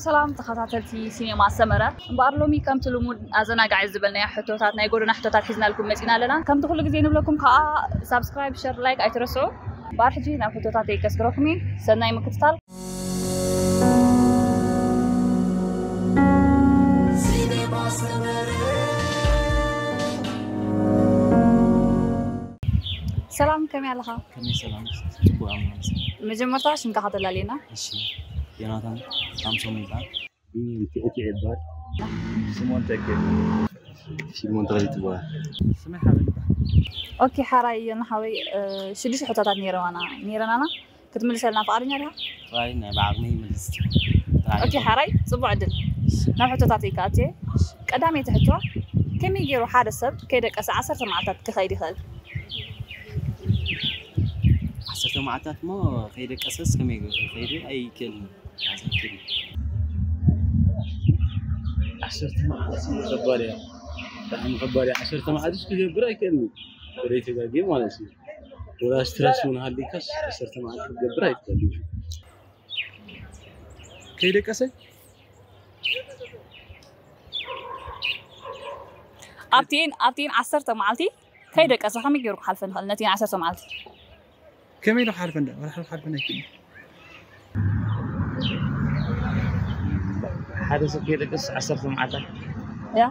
ሰላም ተኸታተልቲ ሲኔማ ሰመረ፣ እምበኣር ሎሚ ከምቲ ልሙድ ኣዘናጋዒ ዝበልናዮ ሕቶታት፣ ናይ ጎደና ሕቶታት ሒዝናልኩም መፂና ኣለና። ከምቲ ኩሉ ግዜ ንብለኩም ከዓ ሳብስክራይብ፣ ሸር፣ ላይክ ኣይትረስዑ። እምበኣር ሕጂ ናብ ሕቶታተይ ከስግረኩም እየ። ሰናይ ምክትታል። ሰላም፣ ከመይ ኣለኻ? ከመይ ሰላም? ጽቡቕ ኣምላኽ ይመስገን። መጀመርታ ሽምካ ከተላልየና? እሺ፣ ዮናታን ሳምሶም ይበሃል። ቢንያም ቲዕቲዕ ይበሃል። ስሞን ተኬ። ሲሞን ተኽሊ ትበሃል። ስመይ ሓበን ይበሃል። ኦኬ፣ ሓራይ ዮና ሓወይ፣ እ፣ ሽዱሽተ ሕቶታት ነይረዋና፣ ነይረናና። ክትምልሰልና ፍቓደኛ ዲኻ? ጥራይ ናይ ብዓቕመይ ይምልስ። ጥራይ ኦኬ፣ ሓራይ ጽቡቕ ዕድል። ናብ ሕቶታተይ ክኣቱ እየ። ቀዳመይቲ ሕቶ፣ ከመይ ገይሩ ሓደ ሰብ ከይደቀሰ ዓሰርተ መዓልታት ክኸይድ ይኽእል? ዓሰርተ መዓልታት እሞ ከይደቀሰስ ከመይ ገይሩ ክኸይድ ኣይክእልን። ኣይክእልን። ዓሰርተ መዓልቲ ከባድ እያ። ብጣዕሚ ከባድ እያ። ዓሰርተ መዓልቲ ክገብር ኣይክእልን። ወደ ተጋጊ ማለት እዩ። ወላ ስትረስ እውን ሃሊካስ ዓሰርተ መዓልቲ ክገብር ኣይክእልን። ከይደቀሰ? ኣብቲን፣ ኣብቲን ዓሰርተ መዓልቲ ከይደቀሰ ከመይ ገይሩ ክሓልፈን ይኽእል? ነቲን ዓሰርተ መዓልቲ? ከመይ ኢሉ ክሓልፈን ዳ? ወላ ሓደ ክሓልፈን ኣይክእልን። ሓደ ሰብ ከይደቀስ ዓሰርተ መዓልታት? ያ።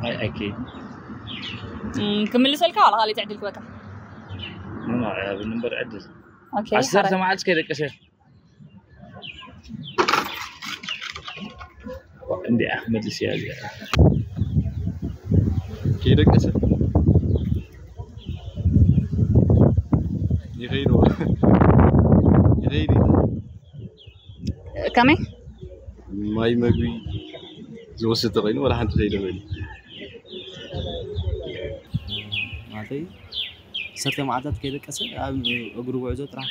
ኣይ፣ ኣይክእልን። እም፣ ክምልሰልካ ዋላ ካልእ ዕድል ክበካ? ኖ፣ ኖ፣ ኣይሃብን እምበር ዕድል። ኦኬ፣ ዓሰርተ ሓራይ። መዓልቲ ከይደቀሰ። እንዲኣ ክመልስ እያ እዚኣ። ከይደቀሰ። ይኸይድ። ይኸይድ። ከመይ? ማይ መግቢ ዝወስድ ተኾይኑ ዋላ ሓንቲ ከይደ በሊ። ማለተይ ዓሰርተ መዓልታት ከይደቀሰ ኣብ እግሩ ጉዕዞ ጥራሕ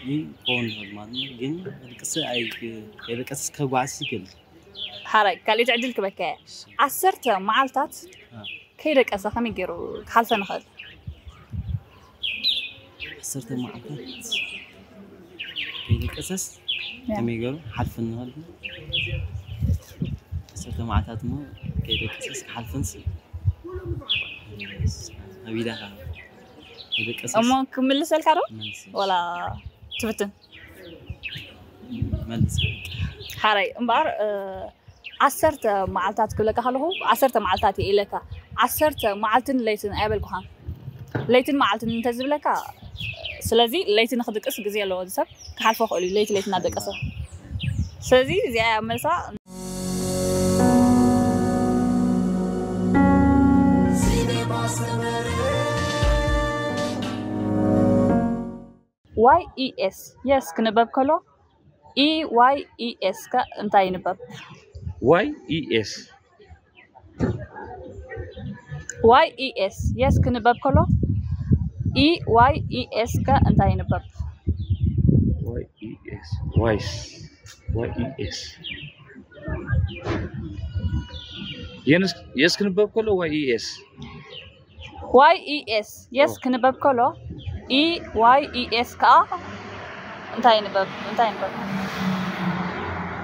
እዩ ክኸውን ይኽእል ማለት ነው። ግን ከይደቀሰ ኣይ-፣ ከይደቀሰስ ከጓዕዝ ይኽእል። ሓራይ፣ ካልኣይቲ ዕድል ክበካ እየ። እሺ። ዓሰርተ መዓልታት አ። ከይደቀሰ ከመይ ገይሩ ክሓልፈን ይኽእል? ዓሰርተ መዓልታት ከይደቀሰስ ያ። ከመይ ገይሩ ሓልፍን ይኽእል? ዓሰርተ መዓልታት እሞ ከይደቀሰስ ክሓልፍንስ ኣብ ኢዳኻ ከይደቀሰስ እሞ ክምልሰልካ ዶ? መልስ። ወላ ትፍትን? መልስ። ሓራይ እምበኣር፣ እ፣ ዓሰርተ መዓልታት ክብለካ ከለኹ፣ ዓሰርተ መዓልታት እየ ኢለካ። ዓሰርተ መዓልትን ለይትን ኣይበልኩኻን። ለይትን መዓልትን እንተዝብለካ፣ ስለዚ ለይቲ ንኽድቅስ ግዜ ኣለዎ፣ እዚ ሰብ ክሓልፎ ክእሉ እዩ፣ ለይቲ ለይቲ እናደቀሰ። ስለዚ እዚኣ እያ መልሳ። ዋይ ኢ ኤስ፣ የስ፣ ክንበብ ከሎ፣ ኢ ዋይ ኢ ኤስ ከ እንታይ ይንበብ? ዋይ ኢ ኤስ። ዋይ ኢ ኤስ፣ የስ፣ ክንበብ ከሎ፣ ኢ ዋይ ኢ ኤስ ከ እንታይ ይንበብ? ዋይ ኢ ኤስ፣ ዋይስ፣ ዋይ ኢ ኤስ። የንስ-፣ የስ ክንበብ ከሎ ዋይ ኢ ኤስ። ዋይ ኢ ኤስ፣ የስ ኦ። ክንበብ ከሎ፣ ኢ ዋይ ኢ ኤስ ከኣ እንታይ ይንበብ? እንታይ ይንበብ?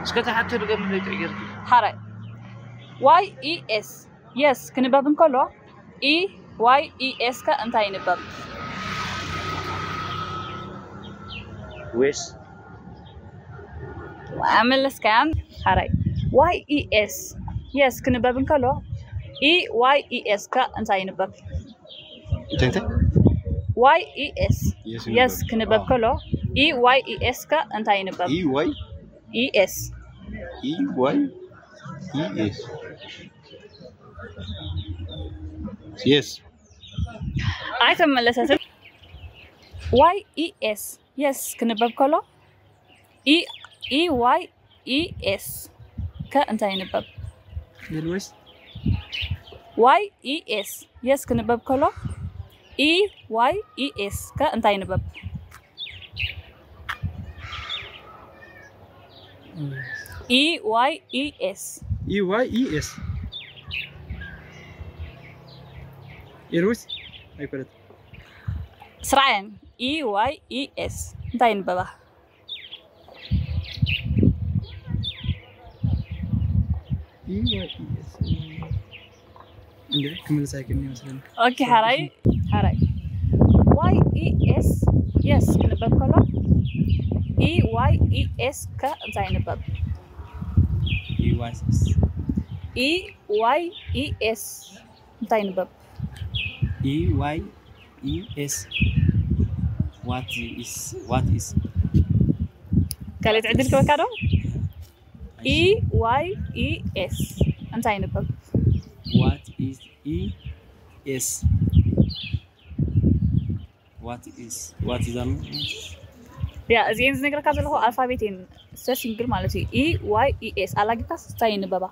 እስከ ተሓተ ድገምለይ ጥዕጌርኪ። ሓራይ። ዋይ ኢ ኤስ፣ የስ ክንበብ እንከሎ፣ ኢ ዋይ ኢ ኤስ ከ እንታይ ይንበብ? ዌስ። ኣመለስካያን ሓራይ። ዋይ ኢ ኤስ፣ የስ ክንበብ እንከሎ፣ ኢ ዋይ ኢ ኤስ ከ እንታይ ይንበብ? እንታይ፣ እንታይ? ዋይ ኢ ኤስ፣ የስ የስ ይንበብ። ክንበብ አ። ከሎ፣ ኢ ዋይ ኢ ኤስ ከ እንታይ ይንበብ? ኢ ዋይ? ኢ ኤስ። ኢ ዋይ ኢ ኤስ። የስ። ኣይተመለሰትን። ዋይ ኢ ኤስ፣ የስ ክንበብ ከሎ፣ ኢ፣ ኢ ዋይ ኢ ኤስ ከ እንታይ ይንበብ? ኤልዌስ። ዋይ ኢ ኤስ፣ የስ ክንበብ ከሎ፣ ኢ ዋይ ኢ ኤስ ከ እንታይ ይንበብ? ኢ ዋይ ኢ ኤስ። ኢ ዋይ ኢ ኤስ። ኤልዌስ ኣይኮነትን። ስራየን፣ ኢ ዋይ ኢ ኤስ እንታይ ይንበባ? እንደ ክምልስ ኣይክእልን ይመስለኒ። ኦኬ፣ ሓራይ ሓራይ ዋይ ኢ ኤስ የስ ክንበብ ከሎ ኢ ዋይ ኢ ኤስ ከ እንታይ ይንበብ? E Y S ኢ ዋይ ኢ ኤስ እንታይ ይንበብ? E Y E S What is what is ካልእ ዕድል ክበካ ዶ? ኢ ዋይ ኢ ኤስ እንታይ ይንበብ? What is E S What is what is that? ያ እዚኤን ዝነግረካ ዘለኹ ኣልፋቤት እየን። ሰሲንግል ማለት እዩ። ኢ ዋይ ኢ ኤስ ኣላጊብካስ እንታይ ይንበባ?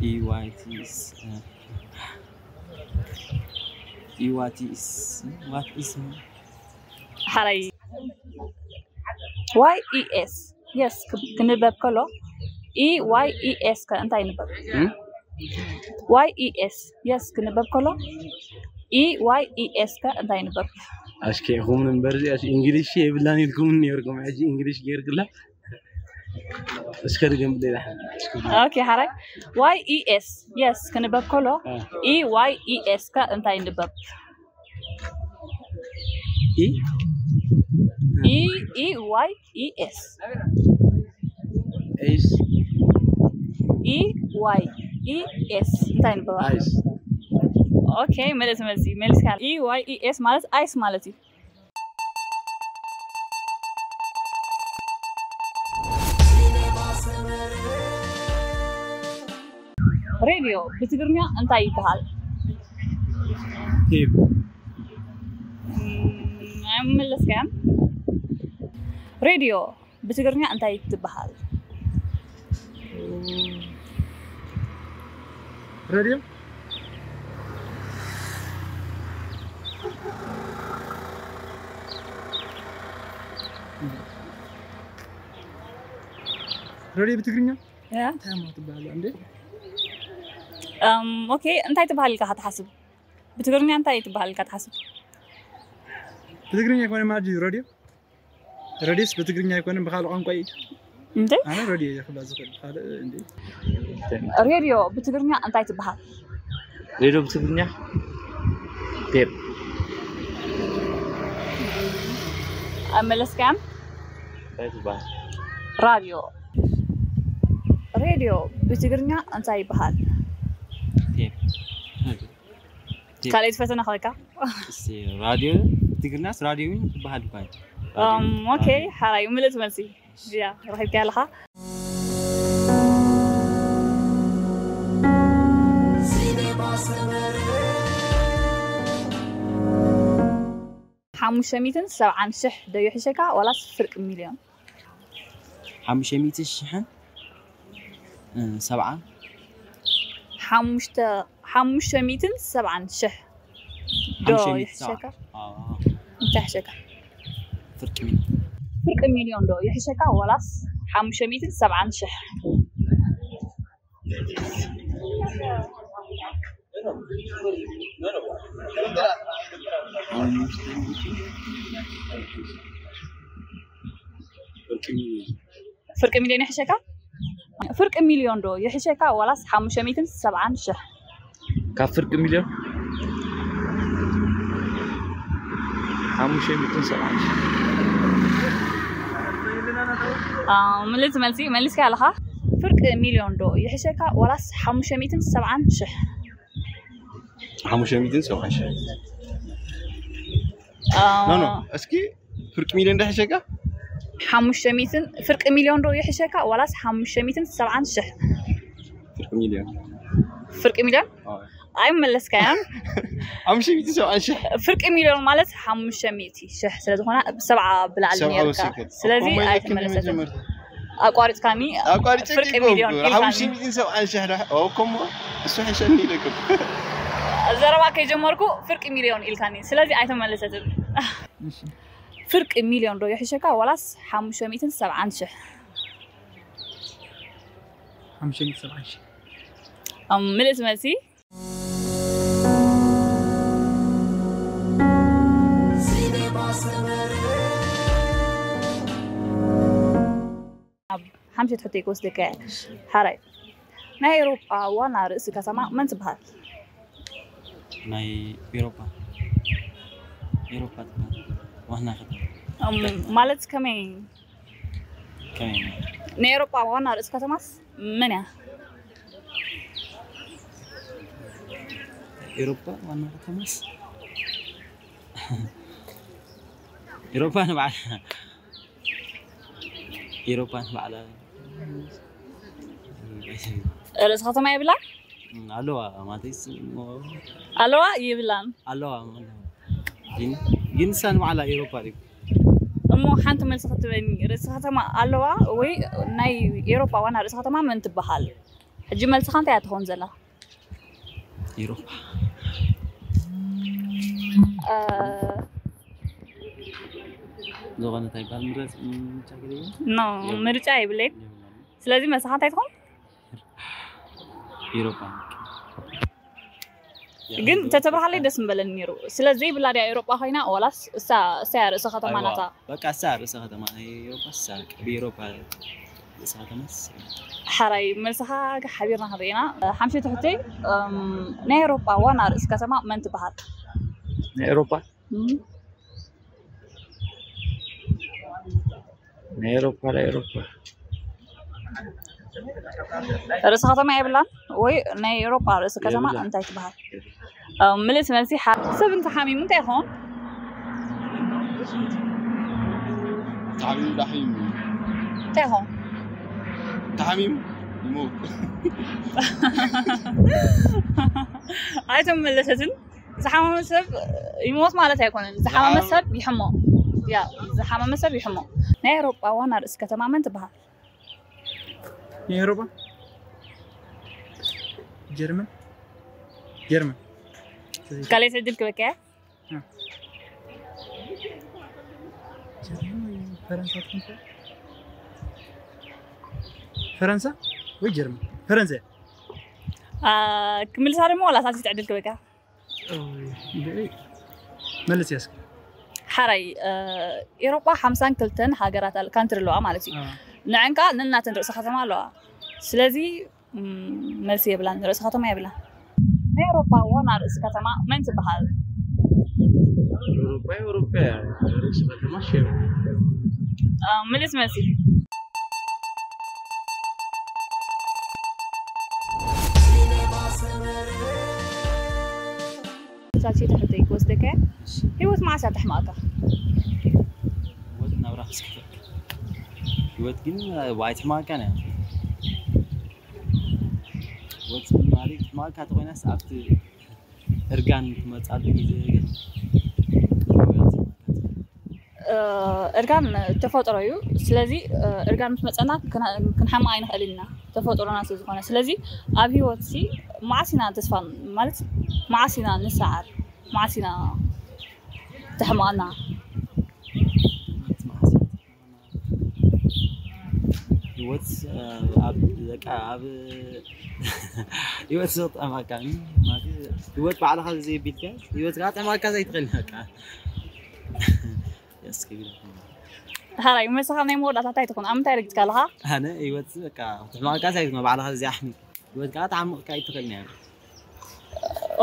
E Y T is uh, E Y T is what is ሓራይ ዋይ ኢ ኤስ የስ ክንበብ ከሎ ኢ ዋይ ኢ ኤስ ከ እንታይ ይንበብ? ዋይ ኢ ኤስ የስ ክንበብ ከሎ ኢ ዋይ ኢ ኤስ ከ እንታይ ይንበብ? ኣሽከ ኢኹም እምበር እዚኣ እንግሊሽ የብላን ኢልኩም ነርኩም ሕጂ እንግሊሽ ገይርክላ እስከ ድገም ደላ ኦኬ ሓራይ ዋይ ኢ ኤስ የስ ክንበብ ከሎ ኢ ዋይ ኢ ኤስ ከ እንታይ ይንበብ? ኢ ኢ ኢ ዋይ ኢ ኤስ ኤስ ኢ ዋይ ኢ ኤስ እንታይ ይንበብ? ኣይስ ኦኬ መልስ መልሲ መልስካ ኢ ዋይ ኢ ኤስ ማለት ኣይስ ማለት እዩ። ሬድዮ ብትግርኛ እንታይ ይበሃል? ቴፕ ኣይመለስካያን። ሬድዮ ብትግርኛ እንታይ ትበሃል? ሬድዮ ሬድዮ ብትግርኛ ያ እንታይ እሞ ትበሃል እንዴ? ኦኬ እንታይ ትበሃል ኢልካ ትሓስብ? ብትግርኛ እንታይ ትበሃል ኢልካ ትሓስብ? ብትግርኛ ይኮነ ማጂ ሬድዮ ሬድዮስ ብትግርኛ ኣይኮነን ብካልእ ቋንቋ እዩ። እንዴ ኣነ ሬድዮ እየ ክብላ ዝኽእል ካልእ እንዴ ሬድዮ ብትግርኛ እንታይ ትበሃል? ሬድዮ ብትግርኛ ቴፕ ኣይመለስካያን። እንታይ ትበሃል? ራድዮ ሬድዮ ብትግርኛ እንታይ ይበሃል? ቴፕ ካልኣይቲ ፈተና ኮይካ እስቲ ራድዮ ትግርኛስ ራድዮ እውን ትበሃል እኳ እዩ። ኦኬ ሓራይ ምልእቲ መልሲ ያ ረኺብካ ኣለኻ። ሓሙሽተ ሚእትን ሰብዓን ሽሕ ዶ ይሕሸካ ዋላስ ፍርቂ ሚልዮን? ሓሙሽተ ሚእቲ ሽሕን እ፣ ሰብዓን ሓሙሽተ ሓሙሽተ ሚእትን ሰብዓን ሽሕ ዶ ሓሙሽተ ሚእቲ ይሕሸካ? ሰብዓን። አ፣ እንታይ ይሕሸካ? ፍርቂ ሚልዮን ፍርቂ ሚልዮን ዶ ይሕሸካ ዋላስ ሓሙሽተ ሚእትን ሰብዓን ሽሕ? ፍርቂ ሚልዮን ይሕሸካ? ፍርቂ ሚልዮን ዶ ይሕሸካ ዋላስ ሓሙሽተ ሚእትን ሰብዓን ሽሕ? ካብ ፍርቂ ሚልዮን ሓሙሽተ ሚእትን ሰብዓን ሽሕ ምልእቲ መልሲ መሊስካ ኣለኻ። ፍርቂ ሚልዮን ዶ ይሕሸካ ዋላስ ሓሙሽተ ሚእትን ሰብዓን ሽሕ? ሓሙሽተ ሚእትን ሰብዓን ሽሕ ኖ ኖ እስኪ ፍርቂ ሚልዮን ዶ ይሕሸካ? ሓሙሽተ ሚእትን ፍርቂ ሚልዮን ዶ ይሕሸካ ዋላስ ሓሙሽተ ሚእትን ሰብዓን ሽሕ? ፍርቂ ሚልዮን ፍርቂ ሚልዮን ኣይመለስካያን። ሓሙሽተ ሚእትን ሰብዓን ሽሕ ፍርቂ ሚልዮን ማለት ሓሙሽተ ሚእቲ ሽሕ ስለ ዝኾነ ብሰብዓ ብላዕሊ ሰብዓ ነይርካ ወሲኸ ስለዚ ኮሞ ኣይተመለሰትን። መጀመርታ ኣቋሪፅካኒ ኣቋሪፀ ፍርቂ ሚልዮን ኢልካኒ። ሓሙሽተ ሚእትን ሰብዓን ሽሕ ዶ ኦ ኮሞ እሱ ሕሸኒ ኢለኩም ዘረባ ከይጀመርኩ ፍርቂ ሚልዮን ኢልካኒ ስለዚ ኣይተመለሰትን። ፍርቂ ሚልዮን ዶ ይሕሸካ ዋላስ ሓሙሽተ ሚእትን ሰብዓን ሽሕ? ሓሙሽተ ሚእትን ሰብዓን ሽሕ ምልእቲ መልሲ ኣብ ሓምሸት ሕቶ ክወስደካ እየ። ሓራይ ናይ ኤውሮጳ ዋና ርእሲ ከተማ መን ትበሃል? ናይ ኤውሮጳ ኤውሮጳ ትበሃል ዋና ከተማ። እም፣ ማለት ከመይ? ከመይ? ናይ ኤውሮጳ ዋና ርእሲ ከተማስ መን እያ? ኤውሮጳ ዋና ከተማስ ኤውሮጳ ንባዕላ ኤውሮጳ ንባዕላ ርእሲ ከተማ የብላ? ኣለዋ ማለትስ ኣለዋ ይብላን። ኣለዋ ማለት ግን ግን ንሳ ንባዕላ ኤውሮጳ ድዩ? እሞ ሓንቲ መልሲ ክትበኒ፣ ርእሲ ከተማ ኣለዋ ወይ ናይ ኤውሮጳ ዋና ርእሲ ከተማ መን ትበሃል? ሕጂ መልስኻ እንታይ እያ ትኸውን ዘላ? ኤውሮጳ እ፣ ዝኾነ እንታይ ይባል ምረጽ ምቻግሪ ኖ፣ ምርጫ የብለይን። ስለዚ መልስኻ እንታይ ትኸውን? ኤውሮጳ ግን ተተባሃለይ ደስ ምበለኒ ነይሩ። ስለዚ ዘይብላ ድያ ኤውሮጳ ኮይና ዋላስ እሳ እሳ እያ ርእሰ ከተማ ኣይዋ፣ ናታ? በቃ እሳ ርእሰ ከተማ ናይ ኤውሮጳ እሳ ብኤውሮጳ ርእሰ ከተማ እሳ። ሓራይ መልስኻ ሓቢርና ክንርኢና። ሓምሸይቲ ሕቶይ፣ እም፣ ናይ ኤውሮጳ ዋና ርእሲ ከተማ መን ትበሃል? ናይ ኤውሮጳ እም፣ ናይ ኤውሮጳ ናይ ኤውሮጳ ርእሲ ከተማ የብላን ወይ ናይ ኤውሮጳ ርእሲ ከተማ የብላን። እንታይ ትበሃል? እም፣ ምልእቲ መልሲ ሓ-፣ ሰብ እንተሓሚሙ እንታይ ይኸውን? ተሓሚሙ ዳሕሚሙ እንታይ ይኸውን? ተሓሚሙ ይሞት። ኣይተመለሰትን። ዝሓመመ ሰብ ይሞት ማለት ኣይኮነን። ዝሓመመ ሰብ ይሕሞ። ያ፣ ዝሓመመ ሰብ ይሕሞ። ናይ ኤውሮጳ ዋና ርእሲ ከተማ መን ትበሃል? ናይ ኤውሮጳ ጀርመን ጀርመን ካልኣይቲ ዕድል ክበካ እያ። ጀርመን ወይ ፈረንሳ ትኾን ትኽእል? ፈረንሳ ወይ ጀርመን? ፈረንሳ። አ፣ ክምልሳ ድማ ዋላ ሳልሲት ዕድል ክበካ። ኦይ፣ ብእይ፣ መልስ ያስክ። ሓራይ፣ እ፣ ኤውሮጳ ሓምሳን ክልተን ሃገራት ኣል-፣ ካንትሪ ኣለዋ ማለት እዩ። አ፣ ንዐንካ ነናተን ርእሰ ከተማ ኣለዋ። ስለዚ እም፣ መልሲ የብላን፣ ርእሰ ከተማ የብላን። ናይ ኤውሮጳ ዋና ርእሲ ከተማ መን ትበሃል? ኤውሮጳ ኤውሮጳ እያ። ርእሲ ከተማ ሸም እ፣ ምልስ መልሲ። ሳልሰይቲ ሕቶይ ክወስደካ እየ። ህይወት መዓስ እያ ተሕማእካ? ህይወት ናብራ ክስከፈክ ህይወት ግን ኣይትሕማእካን እያ። ህይወት ማለት ትሕማእካ ተኮይናስ ኣብቲ እርጋን ትመጻሉ ግዜ ግን እ፣ እርጋን ተፈጥሮ እዩ። ስለዚ እ፣ እርጋን ምስ መጸና ክና-፣ ክንሓምቕ ኣይንኽእልን ኢና፣ ተፈጥሮና ስለ ዝኾነ። ስለዚ ኣብ ህይወት ሲ መዓስ ኢና ተስፋ ማለት መዓስ ኢና ንሰዓር፣ መዓስ ኢና ተሕምቐና? ህይወት ኣብ በቃ ኣብ ህይወት ዘጥዕመካ ማለት ህይወት ባዕልኻ ዘየቢልካ ህይወት ከዓ ጥዕመካ ዘይትኽእል በቃ ያስከቢል ሓራይ መሳኻ ናይ መወዳእታ እንታይ ትኾን? ኣብ ምንታይ ረጊጽካ ኣለኻ? ኣነ ህይወት በቃ ትሕማቃ ሳይት ባዕልኻ ዘይ ኣሕሚ ህይወት ከዓ ተዓምቕካ ኣይትኽእል እያ።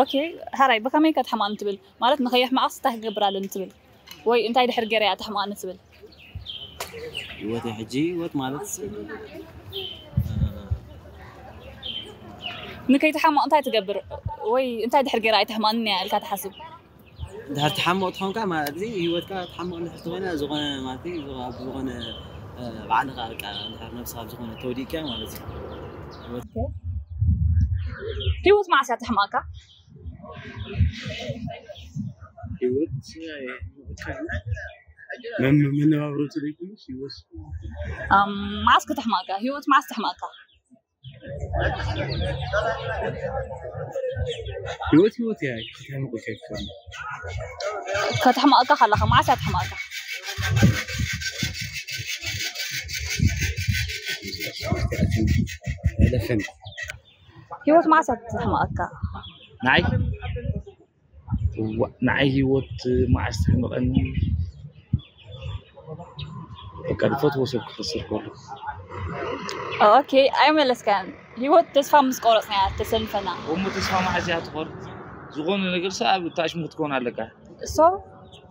ኦኬ፣ ሓራይ ብኸመይ ከተሕማቕኒ ትብል? ማለት ንኸየሕማቕስ እንታይ ክገብር ኣለኒ ትብል? ወይ እንታይ ድሕር ገይረ እያ ተሕማቕኒ ትብል? ህይወት ሕጂ ህይወት ማለት ንከይትሓምቕ እንታይ ትገብር? ወይ እንታይ ድሕር ገይረ ኣይተሕማቕኒ እያ ኢልካ ትሓስብ? ድሕር ትሓምቕ ትኾንካ ማለት እዚ ህይወትካ ትሓምቕ እንድሕር ትኾይና ዝኾነ ማለት እዩ፣ ዝኾ-፣ ኣብ ዝኾነ እ፣ ባዕልኻ በቃ እንድሕር ነብስኻ ኣብ ዝኾነ ተወዲእካ ማለት እዩ። ህይወት መዓስ እያ ተሕማቕካ? ህይወት መን-፣ መነባብሮ ትደግምስ ህይወት ኣም፣ መዓስ ከተሕማቕካ? ህይወት መዓስ ተሕማቕካ? ህይወት ህይወት እያ። ከተሕምቕ ከይትከውን ከተሕማቕካ ከለኻ መዓስ እያ ተሕማቕካ? ለፈን ህይወት መዓስ እያ ተሕማቕካ? ንዓይ እዋ፣ ንዓይ ህይወት መዓስ ተሕምቐኒ? በቃ ዝፈትዎ ሰብ ክኸስር ከሎ። ኦኬ፣ ኣይመለስካን። ህይወት ተስፋ ምስ ቆረጽናያ ተሰልፈና። እሞ ተስፋ መዓዝ እያ ትቆርጽ? ዝኾነ ነገር ሰብ ኣብ ታሽሙ ክትኮን ኣለካ። እሶ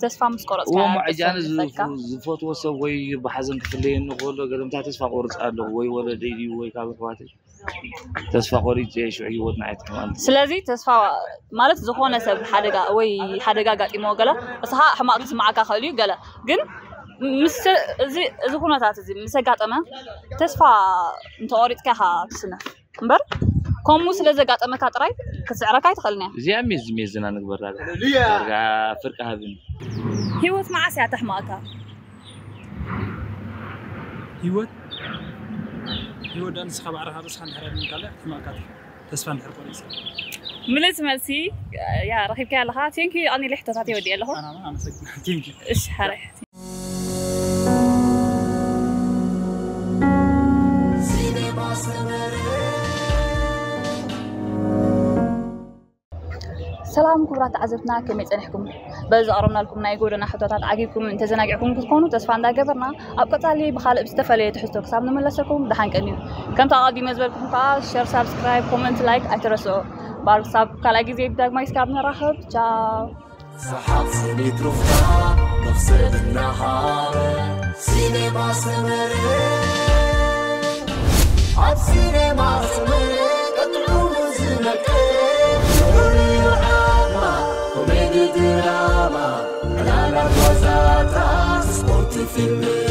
ተስፋ ምስ ቆረጽካ እሞ ዕጃነ ተሰልፈካ። ዝፈትዎ ሰብ ወይ ብሓዘን ክፍለየኒ ከሎ ገለምታ ተስፋ ቆርጽ ኣለኹ ወይ ወለደይ ድዩ ወይ ካብ ኣሕዋተይ ተስፋ ቆሪጽ እየ ሽዑ ህይወት ንዓይ ትሕማን። ስለዚ ተስፋ ማለት ዝኾነ ሰብ ሓደጋ ወይ ሓደጋ ኣጋጢሞ ገለ እስኻ ሕማቕ ክስምዓካ ክእል እዩ ገለ ግን ምስ እዚ እዚ ኩነታት እዚ ምስ ኣጋጠመ ተስፋ እንተቆሪጥካ ኢኻ ትስነፍ እምበር ከምኡ ስለ ዘጋጠመካ ጥራይ ክትስዕረካ ኣይትኽእልን እያ። እዚኣ ሜዝ ሜዝና ንግበራ ዳርጋ ፍርቂ ሃብኒ። ህይወት መዓስ እያ ተሕማቕካ? ህይወት ህይወት ዳ ንስኻ ባዕልኻ ርእስኻ እንድሕር ኣድሚንካላ ትሕማቕካ ተስፋ እንድሕር ቆሪጽ ምልእቲ መልሲ ያ ረኺብካ ኣለኻ። ቴንኪ ኣኒ ልሕቶታት ይወዲ ኣለኹ። ኣናማ ኣመሰግና ቴንኪ እሺ ሓረ ሰላም ክቡራት ተዓዘብትና ከመይ ጸኒሕኩም? በዚ ዘቕረብናልኩም ናይ ጎደና ሕቶታት ዓጊብኩም እንተዘናጊዕኩም ክትኮኑ ተስፋ እንዳገበርና ኣብ ቀጻሊ ብኻልእ ብዝተፈለየ ትሕዝቶ ክሳብ ንመለሰኩም ደሓን ቀንዩ። ከምቲ ኣቐዲመ ዝበልኩም ከዓ ሸር፣ ሳብስክራይብ፣ ኮመንት፣ ላይክ ኣይትረስኦ። ባር ክሳብ ካልኣይ ግዜ ብዳግማይ ስካብ ንራኸብ ቻው። ሰሓቕ ስኒት ሩፍታ መኽሰብ እናሃበ ሲኔማ ሰመረ ኣብ ሲኔማ ሰመረ ቀጥዑ ዝነቀ ፍሉይ ዓማ ኮሜዲ ድራማ ዕላላት ዋዛታት ስፖርት ፊልም